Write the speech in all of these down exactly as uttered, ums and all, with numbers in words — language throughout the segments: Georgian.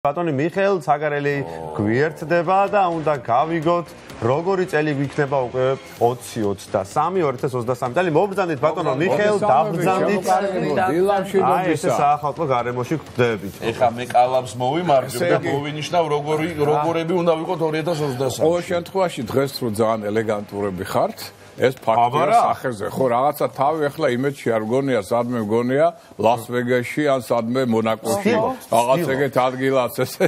ბატონი მიხეილ ცაგარელი გვიერთდება და უნდა გავიგოთ როგორი წელი გვიქნება უკვე ოცი ოცდასამი ორი ათას ოცდასამი წელი მობრძანდით ბატონო მიხეილ დაბრძანდით აი ეს საახალწლო გარემოში გვხვდებით ეხა მე კალამს მოვიმარჯვებ და მოვინიშნავ როგორი როგორები უნდა ვიყოთ ორი ათას ოცდასამი ყოველ შემთხვევაში დღეს რო ძალიან ელეგანტურები ხართ ეს ფაქტია სახეზე ხო რაღაცა თავი ახლა იმედში არ გონია სადმე გონია ლას-ვეგასში ან სადმე მონაკოში რაღაც ეგეთ ადგილას ესე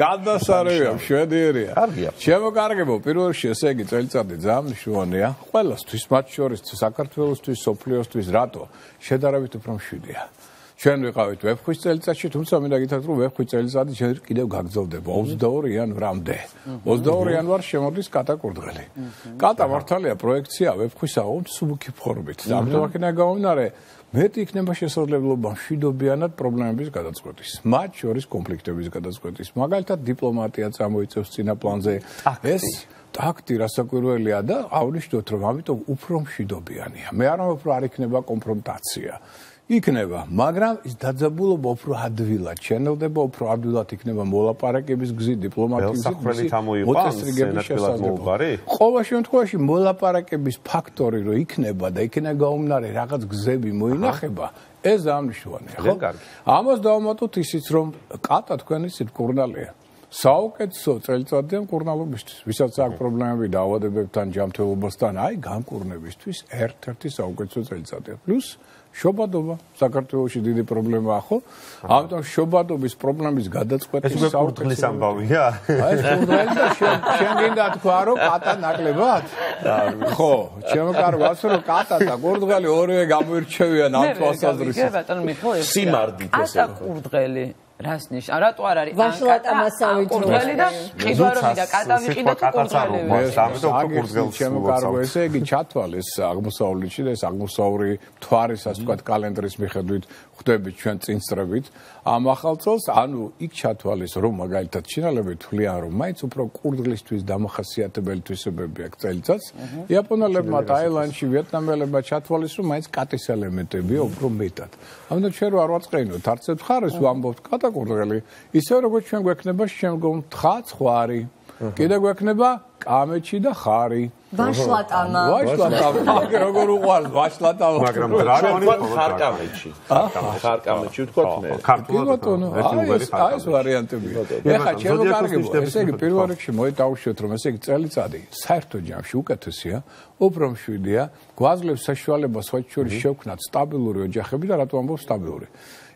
გადასარევია შვედიერია კარგია ჩემო კარგებო პირველ რიგში ესე იგი წელიწადი ძალიან მნიშვნელოვანია ყველასთვის მათ შორის საქართველოსთვის სოფლიოსთვის რატო შედარებით უფრო მშვიდია ჩვენ ვიყავით ვეფხვის წელიწადში, თუმცა მინდა გითხრათ, რომ ვეფხვის წელიწადი ჯერ კიდევ გაგრძელდება ოცდაორი იანვრამდე. ოცდაორი იანვარს შემოდის კატა კურდღელი. კატა მართალია პროექცია ვეფხვისა უსუბუქი ფორმით. ამიტომ აქედან გამომდინარე, მეტი იქნება შესაძლებლობა მშვიდობიანად პრობლემების გადაწყვეტის, მათ შორის კონფლიქტების გადაწყვეტის. მაგალითად, დიპლომატია წამოიწევს წინა პლანზე. ეს ტაქტი რასაკვირველია და აღნიშნოთ, რომ ამიტომ უფრო მშვიდობიანია. მე არ ვამბობ, რომ არ იქნება კონფრონტაცია. იქნება, მაგრამ ის დაძაბულობა უფრო ადვილად შენელდება, უფრო ადვილად იქნება მოლაპარაკების გზით, დიპლომატიის გზით, მოწესრიგების შესაძლებლობა. ყოველ შემთხვევაში მოლაპარაკების ფაქტორი რო იქნება და იქნება გაუმნარე რაღაც გზები მოინახება, ეს ამნიშნულია, ხო? ამას დავამატოთ ისიც, რომ კატა თქვენი სიტკურნალია. საუკეთესო წელიწადია მკურნალობისთვის, ვისაც აქვს პრობლემები დაავადებებთან, ჯანმრთელობასთან, აი გამკურნებისთვის ერთ-ერთი საუკეთესო წელიწადია. პლუს შობადობა საქართველოში დიდი პრობლემაა ხო? ამიტომ შობადობის პრობლემის გადაწყვეტის საუკეთესო ამბავია. აი ეს კურდღელი და შენ გინდა თქვა რომ კატა ნაკლებად? ხო, ჩემო კარგავს რომ კატა და კურდღელი ორივე გამოირჩევიან ამ თვალსაზრისით. სიმარდით ესე. კატა კურდღელი რას ნიშნავს? რატო არ არის? ვაშლატა მასავით კურდღელი და ყიდვარები და კატა ვიყიდა თუ კურდღელი. ამიტომ კურდღელს ჩემო კარგო ესე იგი ჩათვალეს აღმოსავლეთში და ეს აღმოსავლური მთვარის ასე ვთქვათ კალენდრის მიხედვით ხვდებით ჩვენ წინსწრებით ამ ახალ წელს ანუ იქ ჩათვალეს რომ მაგალითად ჩინელები თვლიან რომ მაინც უფრო კურდღლისთვის დამახასიათებელი თვისებები აქვს წელიწადს იაპონელებმა ტაილანდში ვიეტნამელებმა ჩათვალეს რომ მაინც კატის ელემენტებია უფრო მეტად ამიტომ ჩვენ არ ვაწყენოთ არც ერთ მხარეს ვამბობთ კატა კურდღელი ისე როგორც ჩვენ გვექნება შემდგომ თხა ხვარი კიდე გვექნება კამეჩი და ხარი ვაშლატამა ვაშლატამა მაგ როგორ უყვარს ვაშლატამა მაგრამ დრაკონი ხარკამეჩი ხარკამეჩი ვთქვათ მე ბატონო აი ეს ვარიანტებია ეხა ჩემო კარგებო ესე იგი პირველ რიგში მოიტავშოთ რომ ესე იგი წელიწადი საერთო ჯამში უკეთესია უფრო მშვიდია გვაძლევს საშუალებას სხვა შორის შევქნათ სტაბილური ოჯახები და რატო ამბობ სტაბილური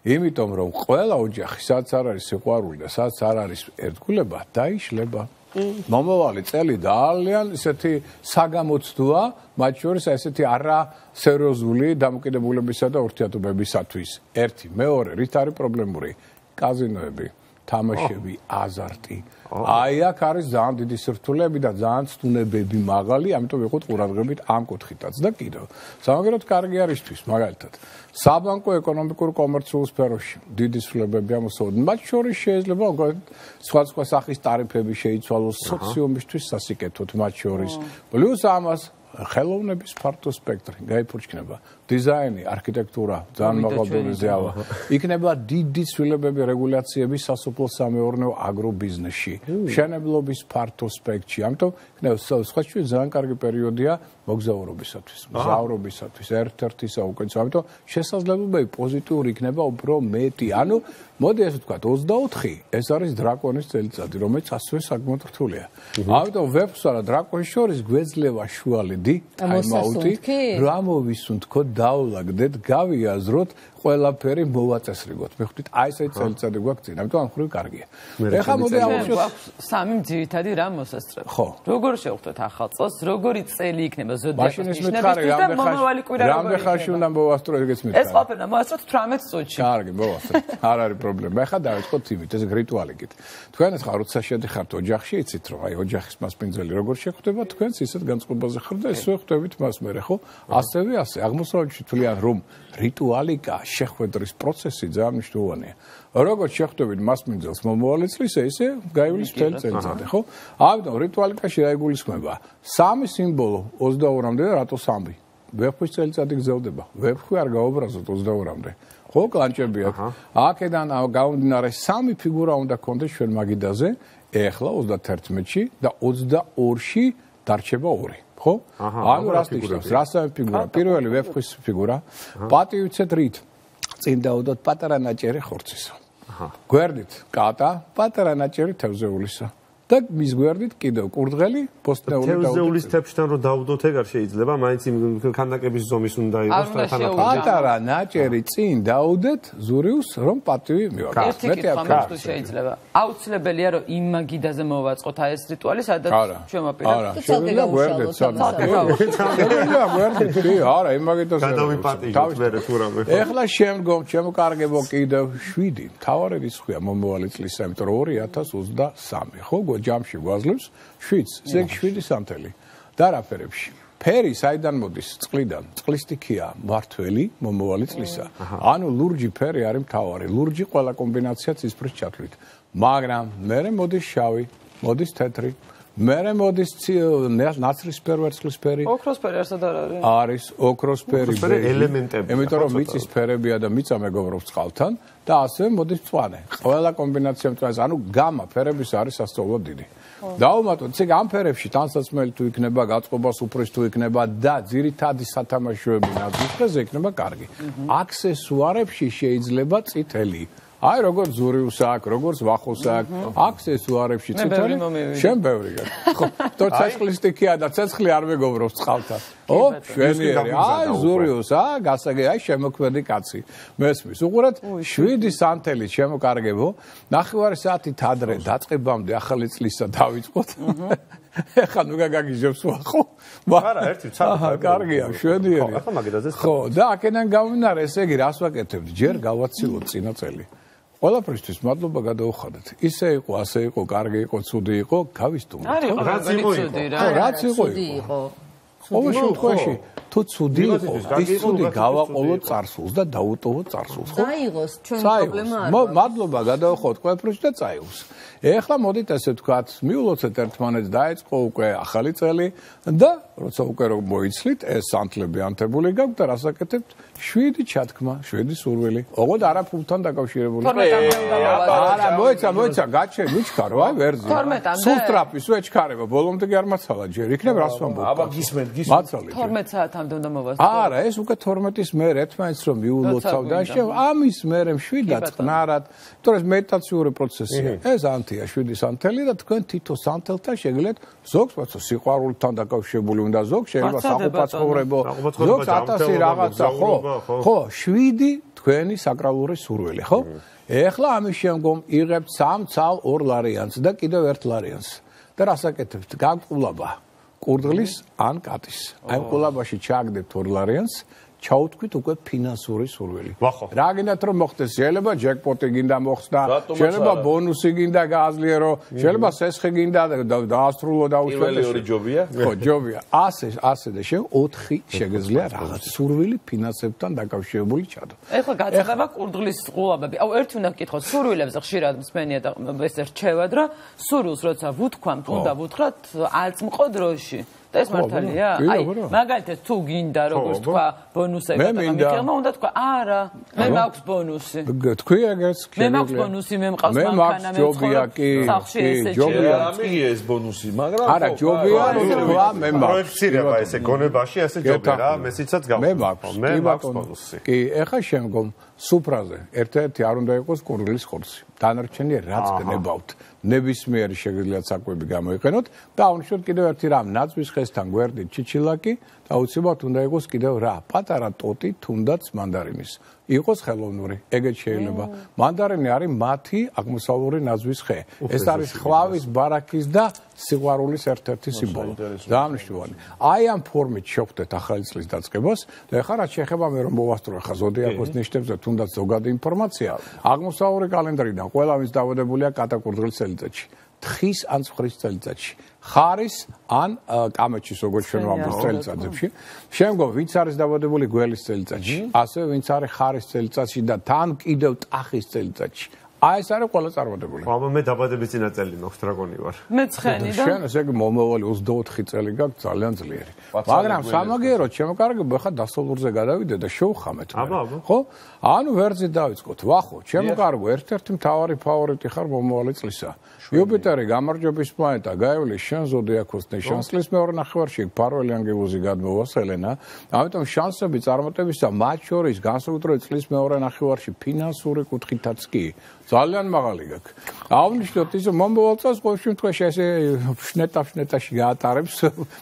იმიტომ რომ ყველა ოჯახი სადაც არ არის სიყვარული და სადაც არ არის ერთგულება დაიშლება მომავალი წელი ძალიან ისეთი საგამოცდოა მათ შორის ესეთი არა სერიოზული დამოკიდებულებისა და ურთიერთობებისათვის ერთი მეორე რით არის პრობლემური კაზინოები თამაშები აზარტი აი აქ არის ძალიან დიდი სირთულეები და ძალიან ცდუნებები მაღალი ამიტომ ვიყოთ ყურადღებით ამ კუთხითაც და კიდევ სამაგეროდ კარგი არისთვის მაგალითად საბანკო ეკონომიკურ კომერციულ სფეროში დიდი ცვლილებები ამოსაუბრეთ მათ შორის შეიძლება სხვა სხვა სახის ტარიფები შეიცვალოს სოციუმისთვის სასიკეთოდ მათ შორის პლუს ამას ხელოვნების ფართო სპექტრი გაიფურჩქნება დიზაინი არქიტექტურა ძალიან მაღალ დონეზეა იქნება დიდი ცვლილებები რეგულაციები სასოფლო-სამეურნეო აგრობიზნესში მშენებლობის ფართო სპექტრში ამიტომ იქნება სხვა შორის ძალიან კარგი პერიოდია მოგზაურობისათვის მგზავრობისათვის ერთ-ერთი საუკეთესო ამიტომ შესაძლებლობები პოზიტიური იქნება უფრო მეტი ანუ მოდი ასე ვთქვათ ოცდაოთხი ეს არის დრაკონის წელიწადი რომელიც ასევე საკმაოდ რთულია ამიტომ ვეფხვსა და დრაკონის შორის გვეძლევა შუალედი ტაიმაუტი რა მოვისუნთქოთ დაულაგდეთ გავიაზროთ ყველაფერი მოვაწესრიგოთ მე ხვდით აი ესეთი წელიწადი გვაქვს წინ ამიტომ ამ ხრივ კარგია ეხლა მოდი ამოვშოთ სამი ძირითადი რამ მოსასწრებ ხო როგორ შევხვდეთ ახალ წელს როგორი წელი იქნება მაშინ ეს მითხარი რამდენ ხანში უნდა მოვასწრო ეგეც მითხარი ეს ყოფილა მოასწროთ თვრამეტ წუთში კარგი მოვასწროთ არ არის პრობლემა ეხლა დავიწყოთ იმით ეს რიტუალი გით თქვენ ახლა როცა შედიხართ ოჯახში იცით რომ აი ოჯახის მასპინძელი როგორ შეხვდება თქვენს ისეთ განწყობაზე ხარ და ისე ხვდებით მას მერე ხო ასევე ასე აღმოსავლეთში თვლიან რომ რიტუალიკა შეხვედრის პროცესი ძალიან მნიშვნელოვანია. როგორც შეხვდებით მასპინძელს მომავალი წლის ესე გაივლის მთელი წელიწადი, ხო? ამიტომ რიტუალიკაში რა იგულისხმება? სამი სიმბოლო ოცდაორამდე და რატო სამი? ვეფხვის წელიწადი გრძელდება. ვეფხვი არ გაუბრაზოთ ოცდაორამდე. ხო, კლანჭები აქვს. აქედან გამომდინარე სამი ფიგურა უნდა გქონდეს ჩვენ მაგიდაზე, ეხლა ოცდათერთმეტში და ოცდაორში დარჩება ორი. ხო? ანუ რას ნიშნავს? რა სამი ფიგურა? პირველი ვეფხვის ფიგურა. პატივიცეთ რით? წინ დაუდოთ პატარა ნაჭერი ხორცისა. გვერდით კატა, პატარა ნაჭერი თევზეულისა. და მის გვერდით კიდევ კურდღელი, ბოსტნეული დაუდოთ. თევზეულის თეფშთან რომ დაუდოთ ეგ არ შეიძლება, მაინც იმ ქანდაკების ზომის უნდა იყოს და თანახმად. პატარა ნაჭერი წინ დაუდეთ ზურიუს რომ პატივი მივაკეთოთ. ერთი კითხვა მაქვს შეიძლება. აუცილებელია რომ იმ მაგიდაზე მოვაწყოთ აი ეს რიტუალი, სადაც ჩვენ ვაპირებთ. არა, შეიძლება გვერდით შეიძლება გვერდით, კი, არა, იმ მაგიდაზე. გადავიპატიჟოთ მერე თუ რამე. ეხლა შემდგომ შემოკარგებო კიდევ შვიდი. თავარი რიცხვია მომავალი წლისა, იმიტომ რომ ორი ათას ოცდასამი, ხო? ჯამში გვაძლევს შვიდს, ზეგ შვიდი სანთელი. და რა ფერებში? ფერი საიდან მოდის? წყლიდან. წყლის სტიქია მართველი მომავალი წლისა. ანუ ლურჯი ფერი არის მთავარი. ლურჯი ყველა კომბინაცია ცისფრის ჩათვლით. მაგრამ მერე მოდის შავი, მოდის თეთრი, მერე მოდის ნაცრისფერი ვერცხლისფერი. ოქროსფერი არსად არ არის? არის ოქროსფერი ელემენტები. იმიტომ რომ მიწის ფერებია და მიწა მეგობრობს წყალთან და ასევე მოდის მწვანე. ყველა კომბინაცია მწვანეს, ანუ გამა ფერების არის სასწაულად დიდი. დაუმატოთ, ისე ამ ფერებში ტანსაცმელი თუ იქნება, გაწყობა სუფრის თუ იქნება და ძირითადი სათამაშოები ნაცრისფერზე იქნება კარგი. აქსესუარებში შეიძლება წითელი. აი როგორც ზურიუს აქვს, როგორც ვახოს აქვს, აქსესუარებში წითელი, შენ ბევრი გაქვს. ხო, თორ ცეცხლის სტიქია და ცეცხლი არ მეგობრობს წყალთან. ო, შვენიერი, აი ზურიუს, აა, გასაგე, აი შემოქმედი კაცი. მესმის, უყურეთ, შვიდი სანთელი შემოკარგებო, ნახევარი საათით ადრე დაწყებამდე ახალი წლისა დავიწყოთ. ეხლა ნუ გაგაგიჟებს ვახო. არა, ერთი ცალკე. კარგია, შვენიერი. ახლა მაგიდაზე. ხო, და აქედან გამომდინარე, ესე იგი, რას ვაკეთებთ? ჯერ გავაცილოთ წინა წელი. ყველაფრისთვის მადლობა გადაუხადეთ. ისე იყო, ასე იყო, კარგი იყო, ცუდი იყო, გავისტუმრეთ. რაც იყო იყო. ხო, რაც იყო იყო. ყოველ შემთხვევაში, თუ ცუდი იყო, ის ცუდი გავაყოლოთ წარსულს და დაუტოვოთ წარსულს, ხო? წაიღოს, ჩვენ პრობლემა არ აქვს. მადლობა გადაუხადოთ ყველაფრისთვის და წაიღოს. ეხლა მოდით ასე ვთქვათ, მიულოცეთ ერთმანეთს, დაეწყო უკვე ახალი წელი და როცა უკვე რომ მოიცლით, ეს სანთლები ანთებული გაქვთ და რას აკეთებთ? შვიდი ჩათქმა, შვიდი სურვილი. ოღონდ არა ფულთან დაკავშირებული. არა, მოიცა, მოიცა, გაჩე, მიჩქარო, აი ვერძი. სულ სტრაფის ვეჩქარება, ბოლომდე კი არ მაცალა ჯერ. იქნებ რას ვამბობ? აბა გისმენთ, გისმენთ. მაცალე. თორმეტ საათამდე უნდა მოვასწრო. არა, ეს უკვე თორმეტის მერე ერთმანეთს რომ მიულოცავ და შევ ამის მერე შვიდად წყნარად, იმიტომ რომ მედიტაციური პროცესია. ეს ანთია შვიდი სანთელი და თქვენ თითო სანთელთან შეგიძლიათ ზოგს ვაცო სიყვარულთან დაკავშირებული უნდა ზოგ შეიძლება საყოფაცხოვრებო ზოგს ათასი რაღაცა ხო ხო შვიდი თქვენი საკრალური სურვილი ხო ეხლა ამის შემდგომ იღებთ სამ ცალ ორ ლარიანს და კიდევ ერთ ლარიანს და რას აკეთებთ გაგყულაბა კურდღლის ან კატის აი ყულაბაში ჩააგდებთ ორ ლარიანს ჩაუთქვით უკვე ფინანსური სურვილი. რა გინდათ რომ მოხდეს? შეიძლება ჯეკპოტი გინდა მოხსნა, შეიძლება ბონუსი გინდა გააზლიერო, შეიძლება სესხი გინდა დაასრულო დაუშვათ. პირველი ორი ჯობია? ხო, ჯობია. ასე, ასე და შე ოთხი შეგეძლია რაღაც სურვილი ფინანსებთან დაკავშირებული ჩადო. ეხლა გაწევა კურდღლის ყულაბები. აუ ერთი უნდა გკითხოთ, სურვილებს ხშირად მსმენია და ეს რჩევად რა, სურვილს როცა ვუთქვამთ, უნდა ვუთხრათ აწმყო დროში. და ეს მართალია? აი, მაგალითად თუ გინდა როგორც თქვა ბონუსები და მიხელმა უნდა თქვა არა, მე მაქვს ბონუსი. თქვი ეგეც კი. მე მაქვს ბონუსი, მე მყავს მანქანა, მე ჯობია კი. კი, ჯობია. ამიღე ეს ბონუსი, მაგრამ არა, ჯობია რომ თქვა მე მაქვს. პროექცირება ესე გონებაში, ასე ჯობია რა, მესიცაც გავხსნა. მე მაქვს, მე მაქვს ბონუსი. კი, ეხა შემდგომ სუფრაზე ერთ-ერთი არ უნდა იყოს კურდღლის ხორცი. დანარჩენი რაც გნებავთ. ნებისმიერი შეგიძლიათ საკვები გამოიყენოთ და აღნიშნოთ კიდევ ერთი რამ ნაცვის ხესთან გვერდით ჩიჩილაკი და აუცილებლად უნდა იყოს კიდევ რა პატარა ტოტი თუნდაც მანდარინის იყოს ხელოვნური ეგეც შეიძლება მანდარინი არის მათი აღმოსავლური ნაცვის ხე ეს არის ხვავის ბარაქის და სიყვარულის ერთ-ერთი სიმბოლო დაამნიშნული აი ამ ფორმით შევხვდეთ ახალი წლის დაწყებას და ეხლა რაც შეეხება მე რომ მოვასწრო ახლა ზოდიაქოს ნიშნებზე თუნდაც ზოგადი ინფორმაცია აღმოსავლური კალენდრიდან ყველა ვინც დავადებულია კატაკურდღლის წელიწადში თხის ან ცხვრის წელიწადში ხარის ან კამეჩის როგორც ჩვენ ვამბობთ წელიწადებში შემდგომ ვინც არის დავადებული გველის წელიწადში ასევე ვინც არის ხარის წელიწადში და თან კიდევ ტახის წელიწადში აი ეს არის ყველა წარმატებული. აბა მე დაბადების წინა წელი მაქვს დრაგონი ვარ. მე ცხენი და შენ ესე იგი მომავალი ოცდაოთხი წელი გაქვს ძალიან ძლიერი. მაგრამ სამაგიეროდ შემოკარგებო ხა დასავლურზე გადავიდე და შევხამეთ. ხო? ანუ ვერძი დავიწყოთ. ვახო, შემოკარგო ერთ-ერთი მთავარი ფავორიტი ხარ მომავალი წლისა. იუპიტერი გამარჯვების პლანეტა გაივლის შენ ზოდიაქოს ნეშანსლის მეორე ნახევარში ფარველი ანგელოზი გადმოვა სელენა. ამიტომ შანსები წარმატებისა მათ შორის განსაკუთრებით წლის მეორე ნახევარში ფინანსური კუთხითაც კი ძალიან მაღალი გაქვს. აღნიშნოთ ის მომავალ წელს ყოველ შემთხვევაში ესე შნეტა-შნეტაში გაატარებს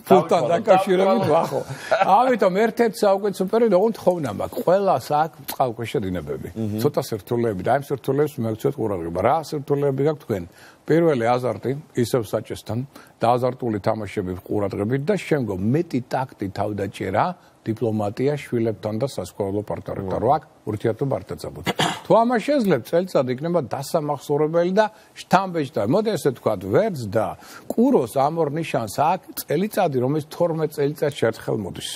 ფულთან დაკავშირებით ვახო. ამიტომ ერთ-ერთი საუკეთესო პერიოდი ოღონდ ხოვნა მაქვს. ყველას აქვს წყალქვეშა დინებები. ცოტა სირთულეები და ამ სირთულეებს მოგცეთ ყურადღება. რა სირთულეები გაქვთ თქვენ? პირველი აზარტი, ისევ საჭესთან და აზარტული თამაშები ყურადღებით და შემდგომ მეტი ტაქტი თავდაჭერა, დიპლომატია შვილებთან და სასქესო პარტნიორებთან. რა ურთიერთობა არ დაწაბოთ. თუ ამას შეძლებთ, წელიწადი იქნება დასამახსოვრებელი და შთამბეჭდავი. მოდი ესე ვთქვათ, ვერძ და კუროს ამ ორ ნიშანს აქვს წელიწადი, რომელიც თორმეტ წელიწადში ერთხელ მოდის.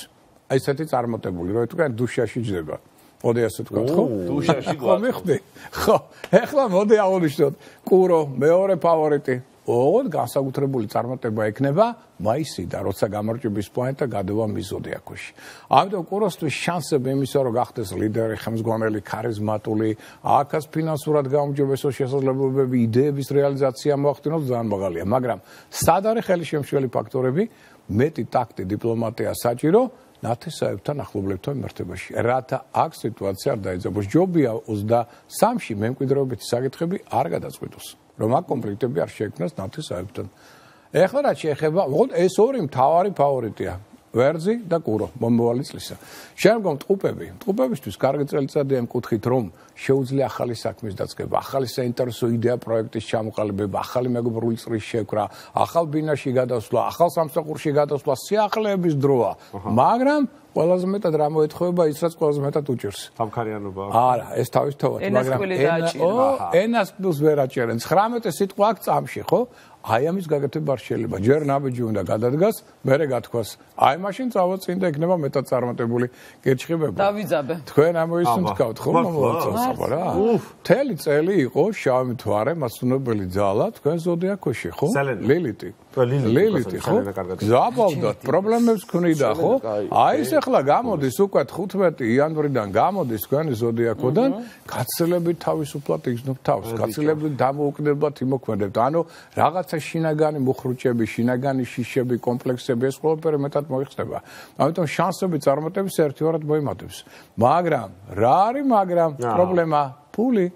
აი ესეთი წარმატებული, რომ თქვენ დუშაში ჯდება. მოდი ასე ვთქვათ, ხო? დუშაში ხო, მიხდი. ხო, ეხლა მოდი აღნიშნოთ, კურო მეორე ფავორიტი. ოღონდ განსაკუთრებული წარმატება ექნება მაისიდან, როცა გამარჯვების პლანეტა გადავა მის ზოდიაქოში. ამიტომ კუროსთვის შანსები იმისა, რომ გახდეს ლიდერი, ხელმძღვანელი, ქარიზმატული, აქაც ფინანსურად გაუმჯობესო შესაძლებლობები, იდეების რეალიზაცია მოახდინოს ძალიან მაღალია, მაგრამ სად არის ხელშემშლელი ფაქტორები? მეტი ტაქტი, დიპლომატია საჭირო ნათესაებთან ახლობლებთან მიმართებაში. რათა აქ სიტუაცია არ დაიძაბოს. ჯობია ოცდასამში მემკვიდრეობითი საკითხები არ გადაწყვეტოს. რომ აქ კონფლიქტები არ შეექმნას ნათესაებთან. ეხლა რაც შეეხება, უბრალოდ ეს ორი მთავარი ფავორიტია. ვერძი და კურო მომავალი წლისა. შემდგომ ტყუპები. ტყუპებისთვის კარგი წელიწადია იმ კუთხით, რომ შეუძლია ახალი საქმის დაწყება, ახალი საინტერესო იდეა პროექტის ჩამოყალიბება, ახალი მეგობრული წრის შექმნა, ახალ ბინაში გადასვლა, ახალ სამსახურში გადასვლა, სიახლეების დროა. მაგრამ ყველაზე მეტად რა მოეთხოვება ის, რაც ყველაზე მეტად უჭირს. სამქარიანობა. არა, ეს თავისთავად, მაგრამ ენას პლუს ვერ აჭერენ. ცხრამეტი სიტყვა აქვს წამში, ხო? აი ამის გაკეთება არ შეიძლება. ჯერ ნაბიჯი უნდა გადადგას, მერე გათქვას. აი მაშინ წავაწინ და იქნება მეტად წარმატებული კირჩხიბება. დავიძაბე. თქვენ ამოისუნთ გავთ, ხო? მომავალ რა? მთელი წელი იყო შავი მთვარე, მასწავლებელი ძალა თქვენ ზოდიაქოში, ხო? ლილიტი. ლილიტი, ხო? ზაბავდათ, პრობლემებს ქნიდა, ხო? აი ეს ახლა გამოდის უკვე თხუთმეტი იანვრიდან გამოდის თქვენი ზოდიაქოდან, გაცილებით თავისუფლად იგრძნობ თავს, გაცილებით დამოუკიდებლად იმოქმედებთ. ანუ რაღაც შინაგანი მუხრუჭები, შინაგანი შიშები, კომპლექსები ეს ყველაფერი მეტად მოიხსნება. ამიტომ შანსები წარმატების ერთგვარად მოიმატებს. მაგრამ რა არის მაგრამ პრობლემა? ფული.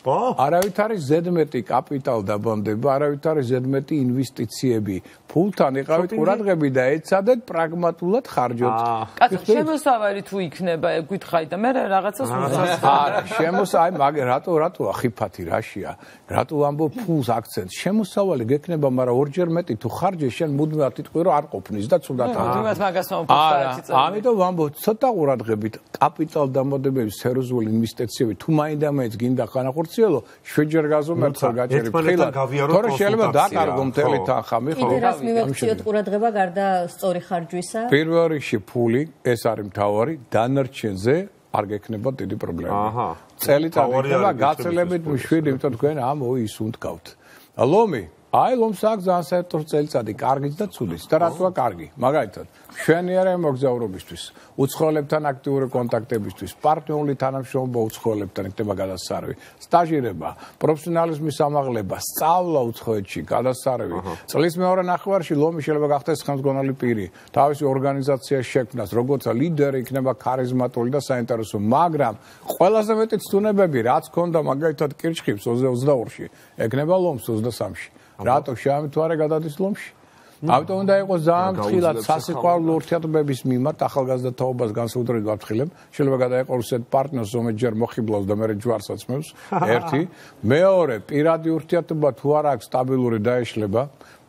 არავით არის ზედმეტი კაპიტალ დაბანდება, არავით არის ზედმეტი ინვესტიციები. ფულთან იყავით ყურადღები და ეცადეთ პრაგმატულად ხარჯოთ. კაცო, შემოსავალი თუ იქნება, გითხარი და მე რაღაცას ვუძახ. არა, შემოსავალი, მაგრამ რატო რატო ახიფათი რაშია? რატო ამბობ ფულს აქცენტს? შემოსავალი გექნება, მაგრამ ორჯერ მეტი თუ ხარჯე შენ მუდმივად იტყვი რომ არ ყოფნის და ცუდად არის. მუდმივად მაგას მომფიქრე წელი. ამიტომ ვამბობ ცოტა ყურადღებით კაპიტალ დამოდებების სერიოზული ინვესტიციები თუ მაინდა-მაინც გინდა ხანახორციელო, შვიდჯერ გაზომერცა გაჭერებ ხილად. თორე შეიძლება დაკარგო მთელი თანხა, მიხო. მივაქციოთ ყურადღება გარდა სწორი ხარჯვისა. პირველ რიგში ფული, ეს არის მთავარი, დანარჩენზე არ გექნება დიდი პრობლემა. აჰა. წელიწადი იქნება გაცილებით შვიდი, იმიტომ თქვენ ამ ოისუნთ გავთ. ლომი, აი ლომს აქვს ძალიან საერთო წელიწადი, კარგიც და ცუდიც. და რატოა კარგი? მაგალითად, მშვენიერი მოგზაურობისთვის, უცხოელებთან აქტიური კონტაქტებისთვის, პარტნიორული თანამშრომლობა უცხოელებთან იქნება გადასარევი, სტაჟირება, პროფესიონალიზმის ამაღლება, სწავლა უცხოეთში, გადასარევი. წლის მეორე ნახევარში ლომი შეიძლება გახდეს ხელმძღვანელი პირი, თავისი ორგანიზაციის შექმნას, როგორც ლიდერი იქნება ქარიზმატული და საინტერესო, მაგრამ ყველაზე მეტი ცდუნებები, რაც ჰქონდა მაგალითად კირჩხიბს ოცდაორში, ეკნება ლომს ოცდასამში. რატო შემთვარე გადადის ლომში? ამიტომ უნდა იყოს ძალიან ფრთხილად სასიყვარულო ურთიერთობების მიმართ ახალგაზრდა თაობას განსაკუთრებით ვაფრთხილებ. შეიძლება გადაეყოლოს ერთ პარტნიორს, რომელიც ჯერ მოხიბლავს და მერე ჯვარს აცმევს. ერთი, მეორე, პირადი ურთიერთობა თუ არ აქვს სტაბილური დაეშლება,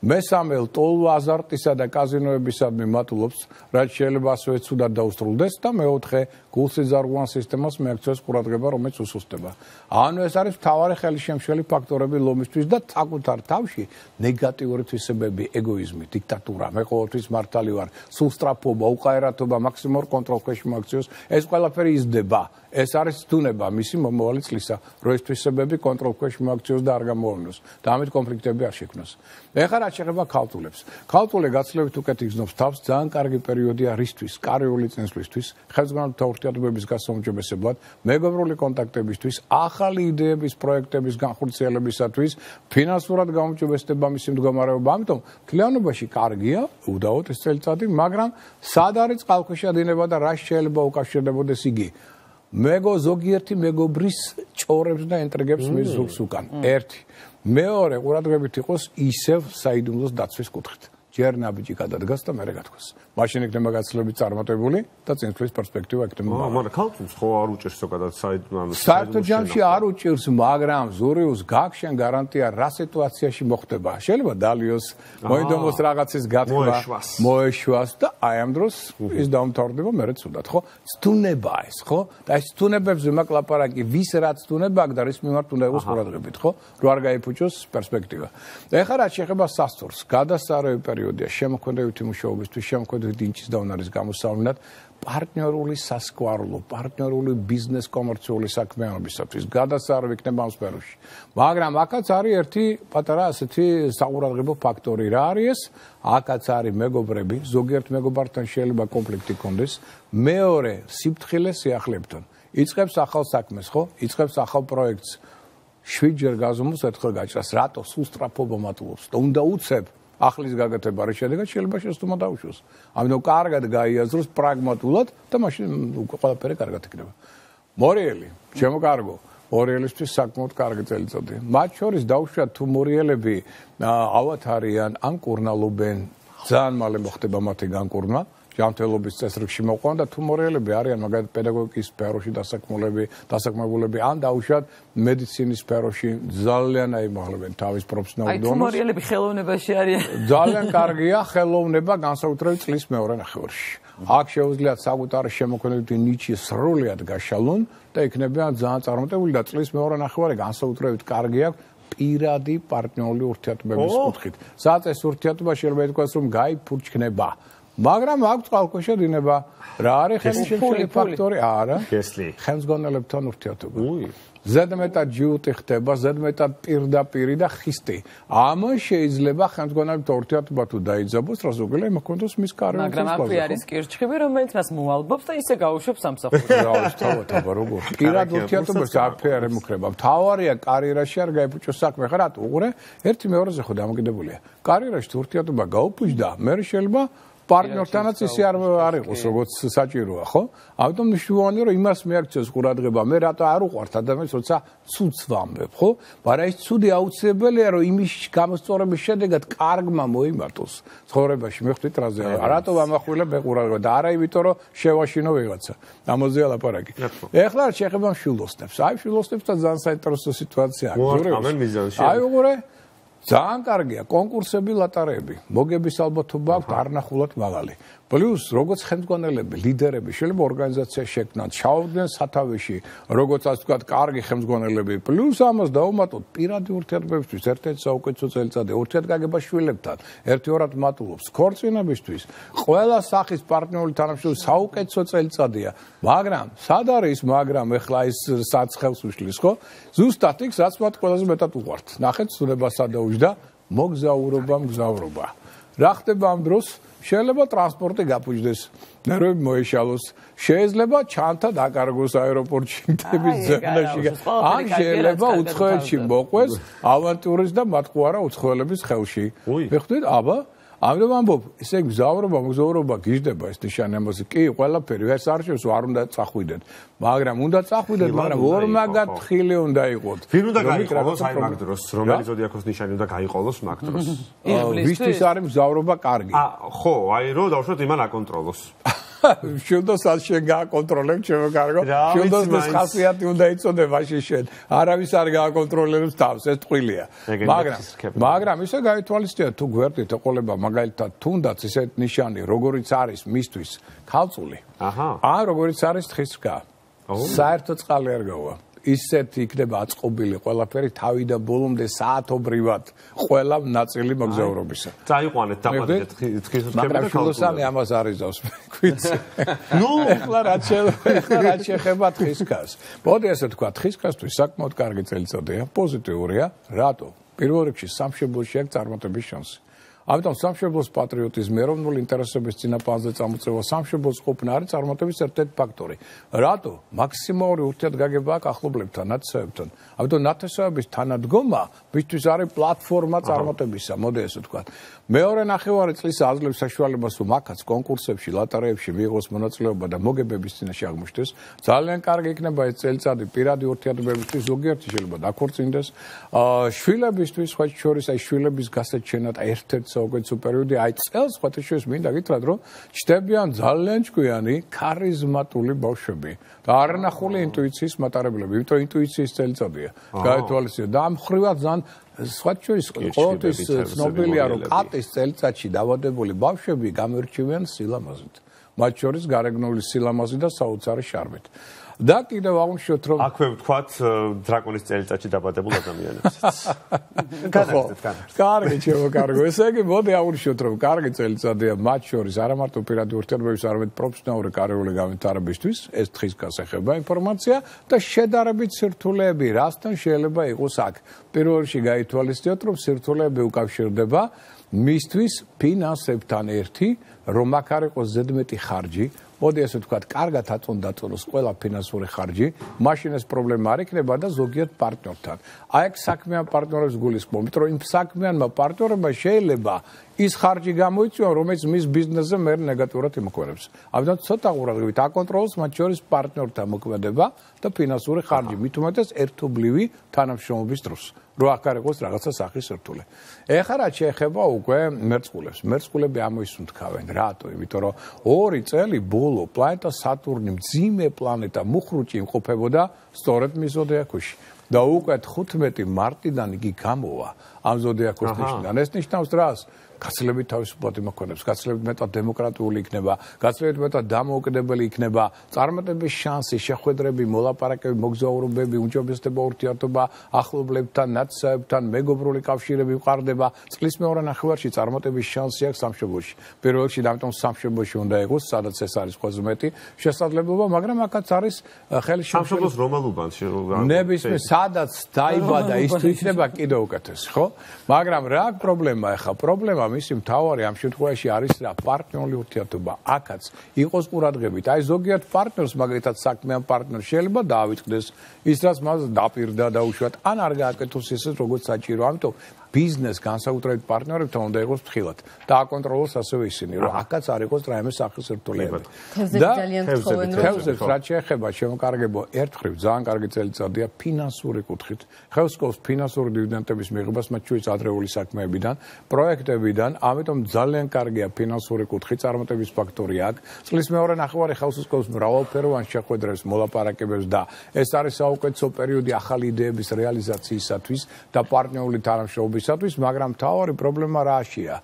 მესამე ლტოლვა აზარტისა და კაზინოებისადმი მატულობს, რაც შეიძლება ასევე ცუდად დაუსრულდეს და მეოთხე გულსიზარღვან სისტემას მიაქცევს ყურადღება, რომელიც უსუსტდება. ანუ ეს არის მთავარი ხელისშემშელი ფაქტორები ლომისთვის და საკუთარ თავში ნეგატიური თვისებები, ეგოიზმი, დიქტატურა, მე ყოველთვის მართალი ვარ, სულსტრაფობა, უყაერათობა, მაქსიმალურ კონტროლს ქვეშ მოაქციოს, ეს ყველაფერი იზრდება. ეს არის თუნება მისი მომავალი წლისა, რომ ეს თვისებები კონტროლ ქვეშ მოაქციოს და არ გამოვლინოს და ამით კონფლიქტები არ შექმნას. ეხლა რაც შეეხება ქალწულებს. ქალწულე გაცილებით უკეთ იგრძნობს თავს, ძალიან კარგი პერიოდია რისთვის, კარიული წინსვლისთვის, ხელმძღვანელთა ურთიერთობების გასაუმჯობესებლად, მეგობრული კონტაქტებისთვის, ახალი იდეების, პროექტების განხორციელებისათვის, ფინანსურად გაუმჯობესდება მისი მდგომარეობა. ამიტომ მთლიანობაში კარგია, უდაოდ ეს წელიწადი, მაგრამ სად არის წყალქვეშა დინება და რა შეიძლება უკავშირდებოდეს იგი? მეგო ზოგიერთი მეგობრის ჭორებს და ინტრიგებს მის ზურგს უკან. ერთი. მეორე ყურადღებით იყოს ისევ საიდუმლოს დაცვის კუთხით. ჯერ ნაბიჯი გადადგას და მერე გათქვას. მაშინ იქნება გაცილებით წარმატებული და წინსვლის პერსპექტივა იქნება. მაგრამ ქალწულს ხო არ უჭერს ზოგადად საიდუმლო. საერთოდ ჯამში არ უჭერს, მაგრამ ზურიუს გაგშენ გარანტია რა სიტუაციაში მოხდება. შეიძლება დალიოს, მოიდომოს რაღაცის გათქვა, მოეშვას და აი ამ დროს ის დაუმთავრდება მერე ცუდად, ხო? ცდუნება ეს, ხო? და ეს ცდუნებებზე მაკლაპარაკი, ვის რაც ცდუნება აქვს და რის მიმართ უნდა იყოს ყურადღებით, ხო? რო არ გაიფუჭოს პერსპექტივა. და ეხლა რაც შეეხება სასწორს, გადასარევი პერიოდია შემოქმედებითი მუშაობისთვის, შემოქმედებითი ინჩის და უნარის გამოსავლენად, პარტნიორული სასკვარლო, პარტნიორული ბიზნეს კომერციული საქმიანობისათვის გადასარევი იქნება ამ სფეროში. მაგრამ აქაც არის ერთი პატარა ასეთი საყურადღებო ფაქტორი. რა არის ეს? აქაც არის მეგობრები, ზოგიერთ მეგობართან შეიძლება კონფლიქტი კონდეს. მეორე, სიფრთხილე სიახლეებთან. იწყებს ახალ საქმეს, ხო? იწყებს ახალ პროექტს. შვიდჯერ გაზომოს ერთხელ გაჭრას. რატო? სულ სწრაფობა მატულობს და უნდა უცებ ახლის გაგათება არის შედეგად შეიძლება შეცდომა დაუშვოს. ამიტომ კარგად გაიაზროს პრაგმატულად და მაშინ უკვე ყველაფერი კარგად იქნება. მორიელი, ჩემო კარგო, მორიელისთვის საკმაოდ კარგი წელიწადი. მათ შორის დაუშვათ თუ მორიელები ავათ არიან ან კურნალობენ, ძალიან მალე მოხდება მათი განკურნა. ჯანმრთელობის წესრიგში მოყვან და თუ მორიელები არიან მაგალითად პედაგოგიკის სფეროში დასაქმებულები, დასაქმებულები ან დაუშვათ მედიცინის სფეროში ძალიან აიმაღლებენ თავის პროფესიონალურ დონეს. აი თუ მორიელები ხელოვნებაში არიან. ძალიან კარგია ხელოვნება განსაკუთრებით წლის მეორე ნახევარში. აქ შეუძლიათ საკუთარი შემოქმედებითი ნიჩი სრულად გაშალონ და იქნებიან ძალიან წარმატებული და წლის მეორე ნახევარი განსაკუთრებით კარგი აქვს პირადი პარტნიორული ურთიერთობების კუთხით. სადაც ეს ურთიერთობა შეიძლება ითქვას რომ გაიფურჩქნება. მაგრამ აქვს წყალქვეშა დინება. რა არის ხელისშემშელი ფაქტორი? არა. ხელმძღვანელებთან ურთიერთობა. ზედმეტად ჯიუტი ხდება, ზედმეტად პირდაპირი და ხისტი. ამან შეიძლება ხელმძღვანელებთან ურთიერთობა თუ დაიძაბოს, რა ზოგადად მოქონდეს მის კარიერას. მაგრამ აქვე არის კირჩხიბი, რომელიც მას მოალბობს და ისე გაუშვებს სამსახურს. რა ის თავად როგორ? პირად ურთიერთობას აქვე არ ემუქრება. მთავარია კარიერაში არ გაიფუჭოს საქმე. ხა რატო? უყურე, ერთი მეორეზე ხო დამოკიდებულია. კარიერაში თუ ურთიერთობა გაუფუჭდა, მე შეიძლება პარტნიორთანაც ისე არ არ იყოს როგორც საჭიროა, ხო? ამიტომ მნიშვნელოვანია რომ იმას მიაქცევს ყურადღება. მე რატო არ უყვართ ადამიანს, როცა ცუდს ვამბებ, ხო? მაგრამ ეს ცუდი აუცილებელია რომ იმის გამოსწორების შედეგად კარგმა მოიმართოს ცხოვრებაში. მე ხვდით რაზე არა. რატო ვამახვილებ მე ყურადღება და არა იმიტომ რომ შევაშინო ვიღაცა. ამაზეა ლაპარაკი. ეხლა შეეხება მშვილოსნებს. აი მშვილოსნებთან ძალიან საინტერესო სიტუაციაა. აი უყურე ძალიან კარგია კონკურსები, ლატარები. მოგების ალბათობა აქვს არნახულად მაღალი. პლუს როგორც ხელმძღვანელები, ლიდერები შეიძლება ორგანიზაცია შექმნათ, ჩაავდნენ სათავეში, როგორც ასე ვთქვათ, კარგი ხელმძღვანელები. პლუს ამას დაუმატოთ პირადი ურთიერთობებისთვის, ერთ-ერთი საუკეთესო წელიწადი, ურთიერთგაგება შვილებთან, ერთი-ორად მატულობს ქორწინებისთვის. ყველა სახის პარტნიორული თანამშრომლობის საუკეთესო წელიწადია. მაგრამ სად არის მაგრამ ეხლა ის საცხელს უშლის, ხო? ზუსტად იქ, რაც მათ ყველაზე მეტად უყვართ. ნახეთ, ცნება სადაუჯდა, მოგზაურობა, მგზავრობა. რა ხდება ამ დროს? შეიძლება ტრანსპორტი გაფუჭდეს, ნერვები მოეშალოს, შეიძლება ჩანთა დაკარგოს აეროპორტში მტების ზონაში. ან შეიძლება უცხოეთში მოყვეს ავანტურის და მათყუარა უცხოელების ხელში. მიხდით, აბა ამიტომ ამბობ, ესე იგი მგზავრობა, მგზავრობა გიждდება ეს ნიშანი ამაზე. კი, ყველაფერი ეს არ შეოს, არ უნდა წახვიდეთ. მაგრამ უნდა წახვიდეთ, მაგრამ ორმაგად ხილი უნდა იყოთ. ვინ უნდა გაიყოლოს აი მაგ დროს, რომელი ზოდიაქოს ნიშანი უნდა გაიყოლოს მაგ დროს? ვისთვის არის მგზავრობა კარგი? ხო, აი რომ დავუშვათ იმან აკონტროლოს. მშვილდოს არ შენ გააკონტროლებ ჩემო კარგო მშვილდოს ეს ხასიათი უნდა იწოდე მაშინ შენ არავის არ გააკონტროლებს თავს ეს ტყუილია მაგრამ მაგრამ ისე გაითვალისწინე თუ გვერდით ეყოლება მაგალითად თუნდაც ისეთ ნიშანი როგორიც არის მისთვის ქალწული აჰა ან როგორიც არის თხისკა საერთო წყალი არ გავა ისეთ იქნება აწყობილი ყველაფერი თავიდან ბოლომდე საათობრივად ყველა ნაწილი მოგზაურობისა. წაიყვანეთ დაბადეთ თხის მაგრამ ფილოსოფია ამას არიზავს ქვიცი. ნუ ეხლა რაც ეხლა რაც შეხება თხისკას. მოდი ასე თქვა თხისკასთვის საკმაოდ კარგი წელიწადია, პოზიტიურია, რატო? პირველ რიგში სამშობლოში აქვს წარმატების შანსი. ამიტომ სამშობლოს პატრიოტიზმი, ეროვნული ინტერესების წინაპარზე წამოწევა სამშობლოს ყოფნა არის წარმატების ერთ-ერთი ფაქტორი. რატო? მაქსიმალური ურთიერთგაგება აქვს ახლობლებთან, ნათესავებთან. ამიტომ ნათესავების თანადგომა მისთვის არის პლატფორმა წარმატებისა, მოდი ესე ვთქვათ. მეორე ნახევარი წლის აძლევს საშუალებას, რომ აქაც კონკურსებში, ლოტარეებში მიიღოს მონაწილეობა და მოგებების წინაშე აღმოჩნდეს. ძალიან კარგი იქნება ეს წელიწადი პირადი ურთიერთობებისთვის, ზოგიერთი შეიძლება დაქორწინდეს. შვილებისთვის, სხვა შორის აი შვილების გასაჩენად ერთ-ერთი საუკეთესო პერიოდი აი წელს ხათაშორის მინდა გითხრათ რომ ჩდებიან ძალიან ჭკვიანი ქარიზმატული ბავშვები და არანახული ინტუიციის მატარებლები იმიტომ ინტუიციის წელიწადია გაეთვალისწინე და ამ ხრივად ძალიან სხვა შორის ყოველთვის ცნობილია რომ კატის წელიწადში დავადებული ბავშვები გამერჩევიან სილამაზით მათ შორის გარეგნული სილამაზით და საოცარი შარმით და კიდევ აღნიშნოთ რომ აქვე ვთქვათ დრაკონის წელიწადში დაბადებულ ადამიანებსაც. განაგრძეთ, განაგრძეთ. კარგი, ჩემო კარგო. ესე იგი, მოდი აღნიშნოთ რომ კარგი წელიწადია მათ შორის არა მარტო პირადი ურთიერთობების, არამედ პროფესიონალური კარიერული განვითარებისთვის, ეს თხისკას ეხება ინფორმაცია და შედარებით სირთულეები, რასთან შეიძლება იყოს აქ. პირველ რიგში გაითვალისწინოთ, რომ სირთულეები უკავშირდება მისთვის ფინანსებთან ერთი, რომ აქ არ იყოს ზედმეტი ხარჯი. მოდი ასე ვთქვათ, კარგად აწონ დაწოლოს ყველა ფინანსური ხარჯი, მაშინ ეს პრობლემა არ იქნება და ზოგიერთ პარტნიორთან. აი აქ საქმიან პარტნიორებს გულისხმობ, იმიტომ რომ იმ საქმიანმა პარტნიორებმა შეიძლება ის ხარჯი გამოიწვიონ, რომელიც მის ბიზნესზე მე ნეგატიურად იმოქმედებს. ამიტომ ცოტა ყურადღებით აკონტროლოს მათ შორის პარტნიორთა მოქმედება და ფინანსური ხარჯი, მით უმეტეს ერთობლივი თანამშრომლობის დროს. რო აქ არ იყოს რაღაცა სახის სირთულე. ეხლა რაც შეეხება უკვე მერწყულებს. მერწყულები ამოისუნთქავენ. რატო? იმიტომ რომ ორი წელი ბოლო პლანეტა სატურნი მძიმე პლანეტა მუხრუჭი იმყოფებოდა სწორედ მის ზოდიაქოში. და უკვე თხუთმეტი მარტიდან იგი გამოვა ამ ზოდიაქოს ნიშნიდან. ეს ნიშნავს რას? გაცილებით თავისუფლად იმოქმედებს, გაცილებით მეტად დემოკრატიული იქნება, გაცილებით მეტად დამოუკიდებელი იქნება, წარმატების შანსი, შეხვედრები, მოლაპარაკებები, მოგზაურობები, უმჯობესდება ურთიერთობა ახლობლებთან, ნათესავებთან, მეგობრული კავშირები ვყარდება. წლის მეორე ნახევარში წარმატების შანსი აქვს სამშობლოში. პირველ რიგში ამიტომ სამშობლოში უნდა იყოს, სადაც ეს არის ყველაზე მეტი შესაძლებლობა, მაგრამ აქაც არის ხელი სამშობლოს რომელ უბანში ნებისმიერ სადაც დაიბადა ის თუ იქნება კიდევ უკეთესი, ხო? მაგრამ რა პრობლემა ახლა? პრობლემა მისი მთავარი ამ შემთხვევაში არის რა პარტნიორული ურთიერთობა. აქაც იყოს ყურადღებით. აი ზოგიერთ პარტნიორს მაგალითად საქმიან პარტნიორს შეიძლება დაავიწყდეს ის რაც მას დაპირდა და უშუალოდ ან არ გააკეთოს ისე როგორც საჭირო. ამიტომ ბიზნეს განსაკუთრებით პარტნიორებთან უნდა იყოს ფრთხილად და აკონტროლოს ასევე ისინი, რომ აქაც არ იყოს რაიმე სახის სირთულეები. და თევზებს რაც შეეხება შემოკარგებო ერთხრივ ძალიან კარგი წელიწადია ფინანსური კუთხით. ხელსკობს ფინანსური დივიდენდების მიღებას მათ შორის ადრეული საქმეებიდან, პროექტებიდან, ამიტომ ძალიან კარგია ფინანსური კუთხით წარმატების ფაქტორი აქ. წლის მეორე ნახევარი ხელსკობს მრავალფეროვან შეხვედრებს, მოლაპარაკებებს და ეს არის საუკეთესო პერიოდი ახალი იდეების რეალიზაციისათვის და პარტნიორული თანამშრომლობის მაგრამ თავარი პრობლემა რაშია?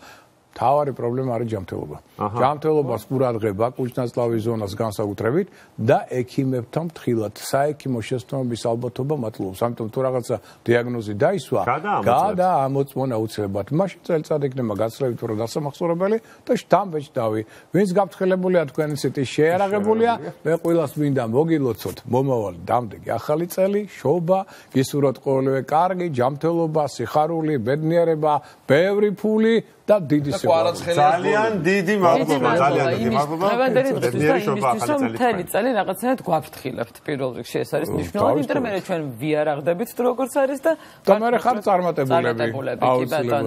თავარი პრობლემა არის ჯანმრთელობა. ჯანმრთელობას ყურადღება კუჭნაწლავის ზონას განსაკუთრებით და ექიმებთან ფრთხილად. საექიმო შეცდომების ალბათობა მატლობს. ამიტომ თუ რაღაცა დიაგნოზი დაისვა, გადაამოწმონა უცებად. მაშინ წელიწად იქნება გაცილებით უფრო დასამახსოვრებელი და შთამბეჭდავი. ვინც გაფრთხილებულია თქვენი ციტი შეერაღებულია, მე ყველას მინდა მოგილოცოთ მომავალი დამდეგი ახალი წელი, შობა, გისურვოთ ყოველივე კარგი, ჯანმრთელობა, სიხარული, ბედნიერება, ბევრი ფული და დიდი სიყვარული. ძალიან დიდი მადლობა, ძალიან დიდი მადლობა. დღევანდელი დღისთვის და იმისთვის, რომ მთელი წელი რაღაცნაირად გვაფრთხილებთ პირველ რიგში, ეს არის მნიშვნელოვანი, იმიტომ რომ მე ჩვენ ვიარაღდებით თუ როგორც არის და და მე ხარ წარმატებულები. აუცილებლად.